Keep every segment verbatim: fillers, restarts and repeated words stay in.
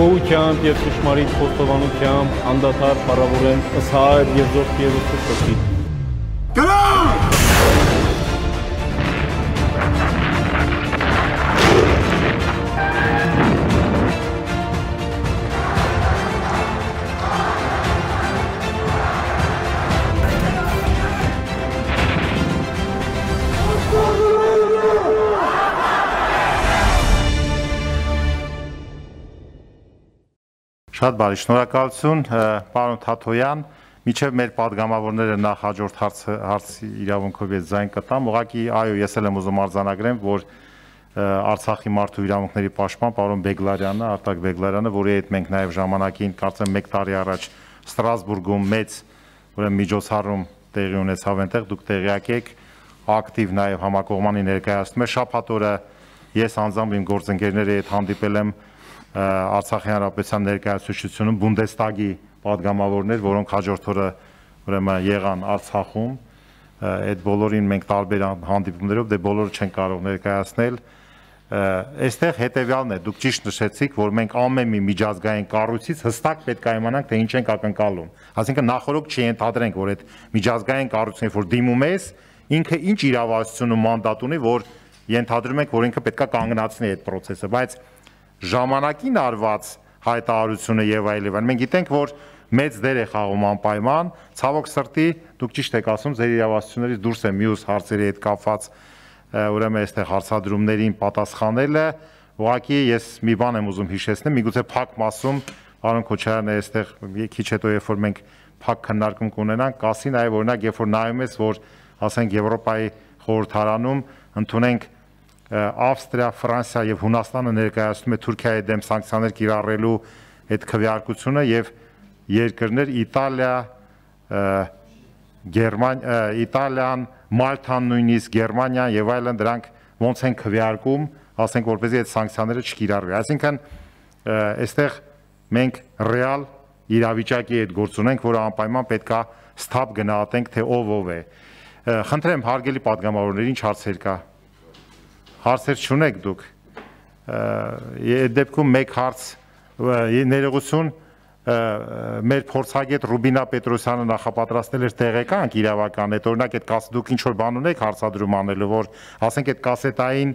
գոհությամբ եւ ճշմարիտ խոստովանությամբ անդադար փառավորեմ ըսհայր եւ զորքի եւ ուսուցչի։ Կրակ! Շատ բարի, շնորհակալություն, պարոն Թաթոյան, միջև մեր պատգամավորները նախ հաջորդ հարցի իրավունքով ես ձայն կտամ, ուղղակի այո, ես էլ եմ ուզում արձանագրեմ, որ Արցախի մարդու իրավունքների պաշտպան պարոն Բեգլարյանը, Արտակ Բեգլարյանը, որի հետ մենք նաև ժամանակին, կարծեմ մեկ տարի առաջ Ստրասբուրգում մեծ միջոցառում տեղի ունեցավ այնտեղ, դուք տեղյակ եք, ակտիվ նաև համակողմանի ներկայացնում է, շաբաթ օրը ես անձամբ իմ գործընկերների հետ հանդիպել եմ Արցախի հանրապետության ներկայացուցչությունում Բունդեստագի պատգամավորներ, որոնք հաջորդ օրը ուրեմն եղան Արցախում, այդ բոլորին մենք տարբեր հանդիպումներով դե բոլորը չեն կարող ներկայացնել, այստեղ հետևյալն է, դուք ճիշտ նշեցիք, որ մենք ամեն մի միջազգային կառույցից հստակ պետք է իմանանք, թե ինչ ենք ակնկալում, այսինքն նախօրոք չենթադրենք, որ այդ միջազգային կառույցին, որ դիմում ես, ինքը ինչ իրավասություն ու մանդատ ունի, որ ենթադրում ենք, որ ինքը պետք է կանգնացնի այդ process-ը, բայց ժամանակին արված հայտարարությունը եւ այլն։ Մենք գիտենք, որ մեծ դեր է խաղում անպայման, ցավոք սրտի, դուք ճիշտ եք ասում, ձեր իրավասություններից դուրս է մյուս հարցերի հետ կապված, ուրեմն այստեղ հարցադրումներին պատասխանելը, ուղղակի ես մի բան եմ ուզում հիշեցնել, միգուցե փակ մասում պարոն Քոչարյանը այստեղ քիչ հետո երբ որ մենք փակ քննարկում կունենանք, կասի նաեւ օրինակ, երբ որ նայում ես, որ ասենք Եվրոպայի խորհրդարանում ընդունենք Ավստրիա, Ֆրանսիա եւ Հունաստանը ներկայացնում է Թուրքիայի դեմ սանկցիաներ կիրառելու այդ քվեարկությունը եւ երկրներ Իտալիա, Գերմանիա, Իտալիան, Մալթան նույնիսկ Գերմանիան եւ այլն դրանք ոնց են քվեարկում, ասենք որպեսզի այդ սանկցիաները չկիրառվի։ Այսինքն այստեղ մենք ռեալ իրավիճակի հետ գործ ունենք, որը անպայման պետքա ստապ գնահատենք, թե ով ով է։ Խնդրեմ հարգելի պատգամավորներ, ինչ հարցեր կա։ Հարցեր չունեք դուք, այդ դեպքում մեկ հարց ներողություն մեր փորձագետ Ռուբինա Պետրոսյանը նախապատրաստել էր տեղեկանք իրավական, այդ օրինակ այդ դուք ինչ-որ բան ունեք հարցադրում անելու, որ ասենք այդ կասետային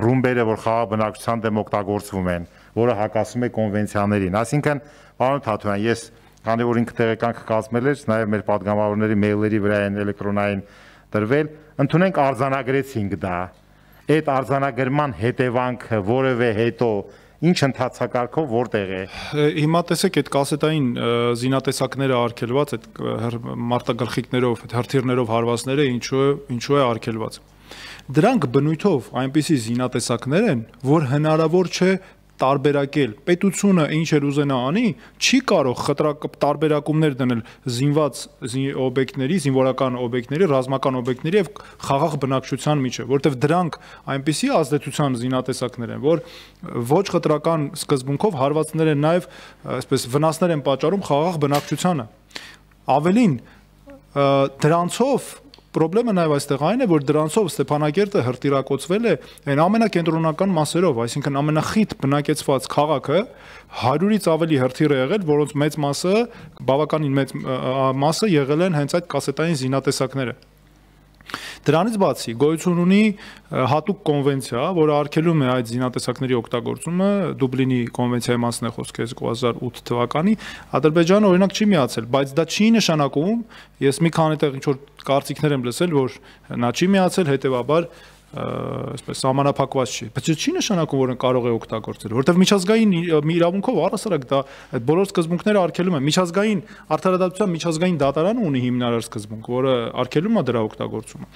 ռումբերը, որ խաղաղ բնակչության դեմ օգտագործվում են, որը հակասում է կոնվենցիաներին, այսինքն պարոն Թաթոյան, ես քանի որ ինքը տեղեկանք կազմել էր, նաև մեր պատգամավորների մեյլերի վրա են էլեկտրոնային տրվել, ընդունենք արձանագրեցինք դա, այդ արձանագրման հետևանքը որևէ հետո ինչ ընթացակարգով որտեղ է։ Հիմա տեսեք այդ կասետային զինատեսակները արգելված, այդ մարտագլխիկներով, հրթիռներով հարվածները ինչու է, ինչու է արգելված։ Դրանք բնույթով այնպիսի զինատեսակներ են, որ հնարավոր չէ տարբերակել, պետությունը ինչ էր ուզենա անի, չի կարող խտրակ տարբերակումներ դնել զինված օբյեկտների, զինվորական օբյեկտների, ռազմական օբյեկտների եւ խաղաղ բնակչության միջեւ, որտեղ դրանք այնպիսի ազդեցության զինատեսակներ են, որ ոչ խտրական սկզբունքով հարվածներ են նաեւ, այսպես վնասներ են պատճառում խաղաղ բնակչությանը։ Ավելին, դրանցով Պրոբլեմը նաև այստեղ այն է, որ դրանցով Ստեփանակերտը հրթիռակոծվել է այն ամենակենտրոնական մասերով, այսինքն ամենախիտ բնակեցված քաղաքը հարյուրից ավելի հրթիռ է եղել, որոնց մեծ մասը, բավականին մեծ մասը եղել են հենց այդ կասետային զինատեսակները։ Դրանից բացի գոյություն ունի հատուկ կոնվենցիա, որը արգելում է այդ զինատեսակների օգտագործումը, Դուբլինի կոնվենցիայի մասն է խոսքը երկու հազար ութ թվականի, Ադրբեջանը օրինակ չի միացել, բայց դա չի նշանակում, ես մի քանի տեղ ինչ որ կարծիքներ եմ լսել, որ նա չի միացել, հետեւաբար այսպես սահմանափակված չի, բայց չի նշանակում, որ կարող է օգտագործել, որովհետև միջազգային իրավունքով առհասարակ դա այդ բոլոր սկզբունքները արգելում են, միջազգային արդարադատության միջազգային դատարանը ունի հիմնարար սկզբունք, որը արգելում է դրա օգտագործումը։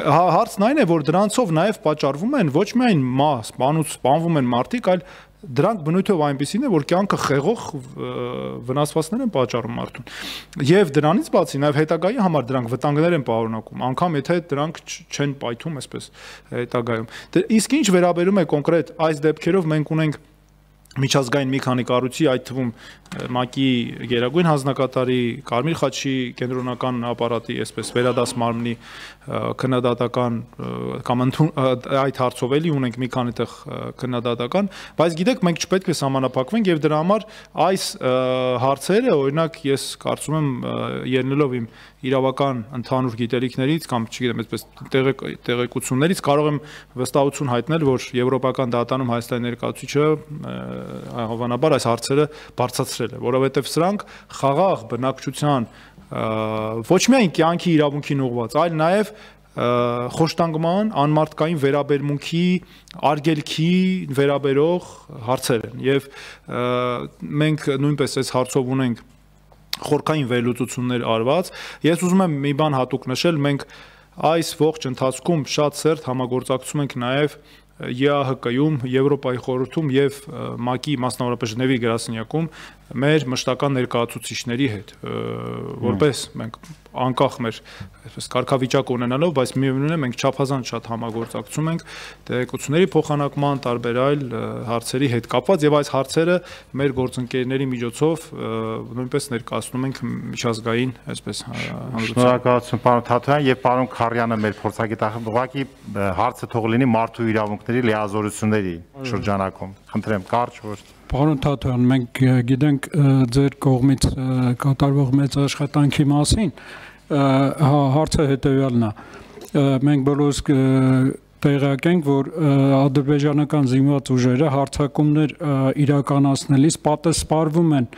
Հարցն այն է, որ դրանցով նաև պատճառվում են ոչ միայն մաս, սպանուց սպանվում են մարդիկ, այլ դրանք բնույթով այնպեսին է, որ կյանքը խեղող վնասվածքներ են պատճառում մարդուն։ Եվ դրանից բացի նաև հետագայի համար դրանք վտանգներ են պարունակում, անգամ եթե դրանք չեն պայթում, այսպես հետագայում։ Իսկ ինչ վերաբերում է կոնկրետ այս դեպքերով մենք ունենք միջազգային մի քանի կառույցի, այդ թվում ՄԱԿ-ի գերագույն հանձնակատարի, Կարմիր խաչի կենտրոնական ապարատի, այսպես վերադաս մարմնի քննադատական կամ այդ հարցով էլի ունենք մի քանի տեղ քննադատական, բայց գիտեք, մենք չպետք է սահմանափակվենք եւ դրա համար այս հարցերը, օրինակ, ես կարծում եմ ելնելով իմ իրավական ընդհանուր գիտելիքներից կամ չգիտեմ, այսպես տեղեկություններից կարող եմ վստահություն հայտնել, որ Եվրոպական դատարանում Հայաստանի ներկայացուցիչը հավանաբար այս հարցերը բարձրացրել է, որովհետև սրանք խաղաղ բնակչության ոչ միայն կյանքի իրավունքին ուղղված, այլ նաև խոշտանգման, անմարդկային վերաբերմունքի, արգելքի վերաբերող հարցեր են եւ մենք նույնպես այս հարցով ունենք խորքային վերլուծություններ արված։ Ես ուզում եմ մի բան հատուկ նշել, մենք այս ողջ ընթացքում շատ սերտ համագործակցում ենք նաև Է Ա Հ Կ-ում, Եվրոպայի խորհրդում եւ ՄԱԿ-ի մասնավորապես Ժնևի գրասենյակում մեր մշտական ներկայացուցիչների հետ, որպես մենք անկախ մեր այսպես կարգավիճակ ունենալով, բայց միևնույն է մենք չափազանց շատ համագործակցում ենք տեղեկությունների փոխանակման, տարբեր այլ հարցերի հետ կապված եւ այս հարցերը մեր գործընկերների միջոցով նույնպես ներկայացնում ենք միջազգային այսպես հանրության։ Շնորհակալություն պարոն Թաթոյան եւ պարոն Քարյանը մեր փորձագետախ ուղղակի հարցը թող լինի մարդու իրավունքների լիազորությունների շրջանակում։ Խնդրեմ, կարճ որ Պարոն Թաթոյան, մենք գիտենք ձեր կողմից կատարվող մեծ աշխատանքի մասին, հարցը հետևյալն է։ Մենք բոլորս տեղյակ ենք, որ ադրբեջանական զինված ուժերը հարձակումներ իրականացնելիս պատասխանվում են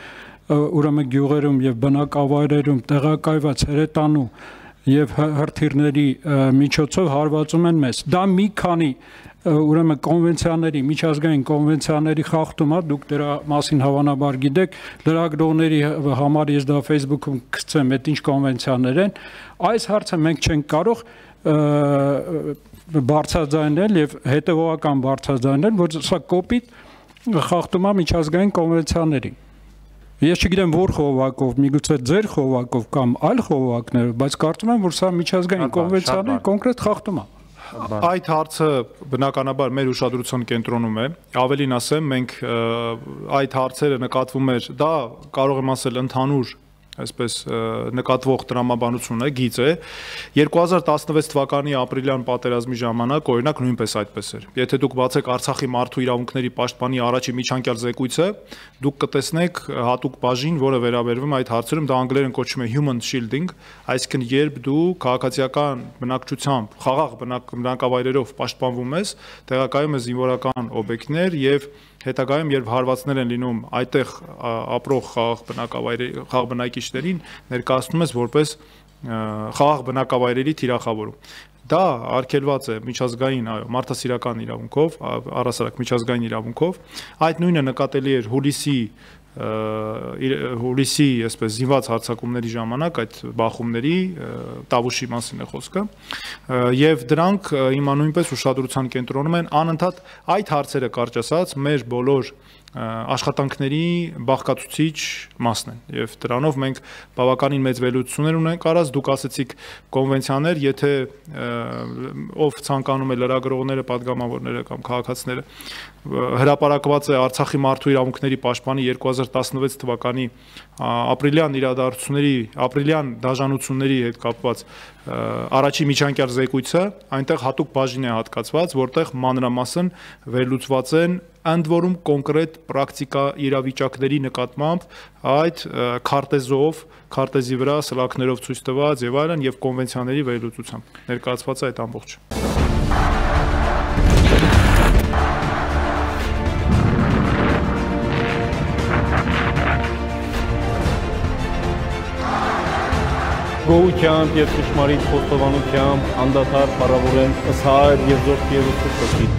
ուրեմն գյուղերում եւ բնակավայրերում տեղակայված հրետանու եւ հրթիռների միջոցով հարվածում են մեզ։ Դա մի քանի ուրեմն կոնվենցիաների, միջազգային կոնվենցիաների խախտում է, դուք դրա մասին հավանաբար գիտեք, լրագրողների համար ես դա Facebook-ում գցեմ, այդ ինչ կոնվենցիաներ են, այս հարցը մենք չենք կարող բարձրաձայնել եւ հետեւողական բարձրաձայնել, որ սա կոպիտ խախտում է միջազգային կոնվենցիաների։ Ես չգիտեմ որ խողովակով, միգուցե ձեր խողովակով կամ այլ խողովակներով, բայց կարծում եմ, որ սա միջազգային կոնվենցիաների կոնկրետ խախտում է։ Այդ հարցը բնականաբար մեր ուշադրության կենտրոնում է, ավելին ասեմ, մենք այդ հարցերը նկատվում էր, դա կարող եմ ասել ընդհանուր այսպես նկատվող տրամաբանություն է, գիծ է, երկու հազար տասնվեց թվականի ապրիլյան պատերազմի ժամանակ օրինակ նույնպես այդպես էր։ Եթե դուք բացեք Արցախի մարդու իրավունքների պաշտպանի առաջի միջանկյալ զեկույցը, դուք կտեսնեք հատուկ բաժին, որը վերաբերվում է այդ հարցերում, դա անգլերեն կոչվում է human shielding, այսինքն երբ դու քաղաքացիական բնակչությամբ, խաղաղ բնակավայրերով պաշտպանվում ես, տեղակայում ես զինվորական օբյեկտներ եւ հետագայում երբ հարվածներ են լինում այդտեղ ապրող խաղաղ բնակավայրերի խաղաղ բնակիչներին ներկայացնում ես որպես խաղաղ բնակավայրերի թիրախավորում։ Դա արգելված է միջազգային, այո, մարդասիրական իրավունքով, առհասարակ միջազգային իրավունքով։ Այդ նույնը նկատելի էր հուլիսի հուլիսի այսպես զինված հարձակումների ժամանակ այդ բախումների Տավուշի մասին է խոսքը եւ դրանք հիմա նույնպես ուշադրության կենտրոնում են անընդհատ այդ հարցերը կարճ ասած մեր բոլոր աշխատանքների բաղկացուցիչ մասն են եւ դրանով մենք բավականին մեծ վերլուծություններ ունենք արած դուք ասեցիք կոնվենցիաներ եթե ով ցանկանում է լրագրողները падգամավորները կամ քաղաքացիները հրապարակված է Արցախի մարդու իրավունքների պաշտպանի երկու հազար տասնվեց թվականի ապրիլյան իրադարձությունների ապրիլյան դաժանությունների հետ կապված առաջի միջանկյալ զեկույցը այնտեղ հատուկ բաժին է հատկացված որտեղ մանրամասն վերլուծված են ընդ որում կոնկրետ պրակտիկա իրավիճակների նկատմամբ այդ քարտեզով, քարտեզի վրա սլաքներով ցույց տված եւ այլն եւ կոնվենցիաների վերլուծությամբ ներկայացված է այդ ամբողջը։ Գոհությամբ եւ ճշմարիտ խոստովանությամբ անդադար փառավորեմ ըստ հայր եւ զորքի եւ ուսուցչի։